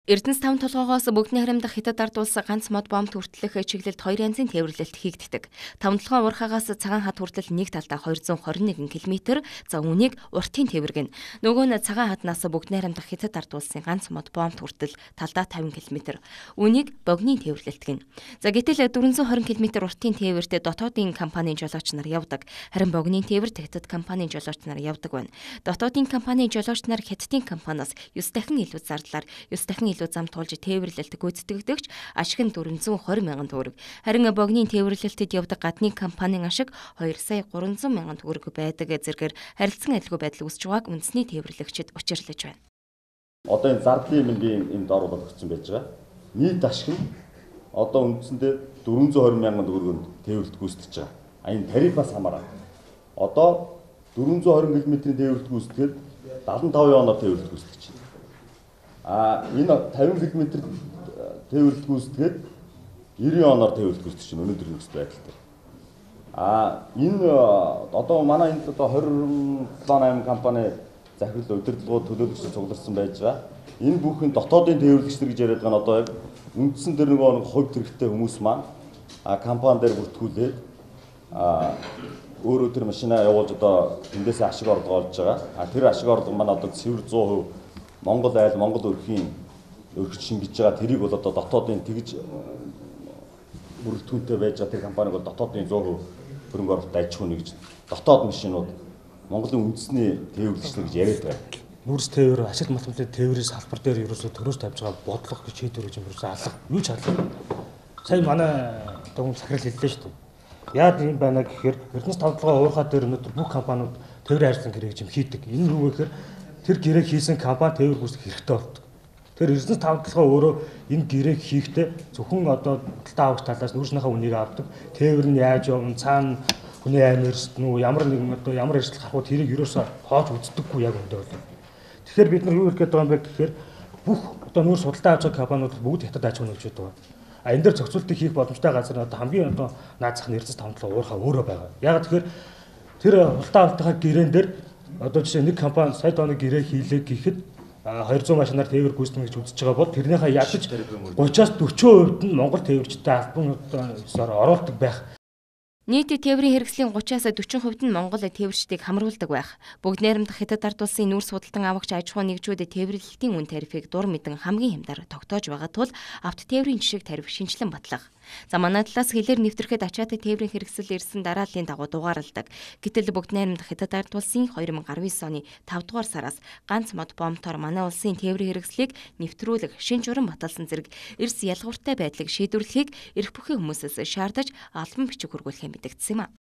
Эрдэнэс 5 толгоогоос Богдны харамдах Хятад ард улс ганц мод бомб хүртэлх чиглэлд 2 янзын тээвэрлэлт хийгддэг. 5 толгойн урхаагаас цагаан хад хүртэл нэг талдаа 221 км, за үүнийг уртын тээвэргэн. Нөгөө нь цагаан хаднаас Богдны харамдах Хятад ард улсын ганц мод бомб хүртэл талдаа 50 км. Үүнийг богны тээвэрлэлт гэнэ. За гэтэл 420 км уртын тээвэрт дотоодын компанийн жолооч нар явдаг. Харин богны тээвэрт Хятад компанийн жолооч нар явдаг байна. Дотоодын компанийн жолооч нар Хятадын компаниас 9 дахин илүү зардлаар 9 дахин илүү зам туулж тээвэрлэлт гүйцэтгэгдэгч ашиг нь 420 мянган төгрөг. Харин богны тээвэрлэлтэд явдаг гадны компанийн ашиг 2 сая 300 мянган төгрөг байдаг зэргээр харилцан адилгүй байдал үүсэж байгааг үндэсний тээвэрлэгчид учирлаж байна. Одоо энэ зардлын мөнгөний энд дор болгогдсон байж байгаа. Нийт ашиг нь одоо үндсэндээ 420 мянган төгрөгөнд тээвэрлэлт гүйцэтгэж байгаа. Энэ тарифаас хамаараа. Одоо 420 км-ийн тээвэрлэлт гүйцэтгээд 75 оноор тээвэрлэлт гүйцэтгэж байна. Энэ 50 км тээвэрлэлт гүйцэтгээд 90 оноор тээвэрлэлт гүйцэтгэж байна өнөөдрийн нөхцөл байдалтай. Энэ одоо манай энд одоо 27-8 компани захирал удирдлагууд төлөөлөгчид цугларсан байж байгаа. Энэ бүхэн дотоодын тээвэрлэгчдэр гэж яриад байгаа нь одоо яг үндсэн дээр нөгөө хувьд хэрэгтэй хүмүүс маань компани дээр бүртгүүлээд өөрөө тэр машинаа явуулж одоо эндээс ашиг орлого олж байгаа. Тэр ашиг орлого маань одоо цэвэр 100% Монгол айл, Монгол өрхийн өргөж шингэж байгаа. Тэрийг бол одоо дотоодын тэгж бүрэлдэхүүнтэй байж байгаа тэр компаниг бол дотоодын 100% хөрөнгө оруулалт аж ахуйн гэж дотоод машинууд Монголын үндэсний тээвэрлэгчдэр гэж яриад байгаа. Нүрс тээвэр, ашиг математикийн тээврийн салбар дээр ерөөсөө төрөөс тавьж байгаа бодлого гэж шийдвэр гэж ерөөсөө алга. Юу ч алга. Сая манай дөнгөж захирал хэллээ шүү дээ. Яад юм байна гэхээр Эрдэнэс 5 толгой уурхаа дээр өнөөдөр бүх компаниуд тээврийн ажлын гэрээ гэж хийдэг. Энэ юу вэ гэхээр тэр гэрээг хийсэн компани тээвэр гүйцэтгэх хэрэгтэй болдог. Тэр Эрдэнэс 5 толгой өөрөө энэ гэрээг хийхдээ зөвхөн одоо талтаа авах талаас нүрснийхээ үнийг авдаг. Тээвэр нь яаж явна, цаана хүний аймаг эрсдэн үү, ямар нэгэн одоо ямар эрсдэл гарахуд тэрийг ерөөсөө хоож үздэггүй яг өндөө бол. Тэгэхээр бид нар юу хэлэх гээд байгаа юм бэ гэхээр бүх одоо нүүр судалтай авч байгаа компаниуд бүгд Хятад аж ахуйн нэгжүүд байгаа. Энэ дээр зохицуултыг хийх боломжтой газар нь одоо хамгийн одоо наад зах нь Эрдэнэс 5 толгой уурхаа өөрөө байгаа. Яг тэгэхээр тэр хултаа авалтынхаа гэрээн дээр одоо жишээ нэг компани сая тоног гэрээ хийлээ гэхэд 200 машинаар тээвэр гүйцэтгэнэ гэж үзэж байгаа бол тэрнийхээ ядаж 30-аас 40% нь Монгол тээвэрчдээ албан ёсоор оруулдаг байх. Нийт тээврийн хэрэгслийн 30-аас 40% нь Монгол тээвэрчдийг хамруулдаг байх. Богдны харамдах Хятад ард улсын нүүрс худалдан авагч аж ахуйн нэгжүүд тээвэрлэлтийн үн тарифыг дур мэдэн хамгийн хямдаар тогтоож байгаа тул авто тээврийн жишг тариф шинжилэн батлах. За манай талаас хэлээр нэвтрэхэд ачаатай тээврийн хэрэгсэл ирсэн дарааллын дагуу дугаарладаг. Гэтэл Богдны харамдах Хятад ард улсын 2019 оны 5 дугаар сараас ганц мод бомбтоор манай улсын тээврийн хэрэгслийг нэвтрүүлэх шин журам баталсан зэрэг эрс ялгууртай байдлыг шийдвэрлэхийг эрх бүхий хүмүүсээс шаардаж албан бичиг хургуулах мэдэгдсэн юм а.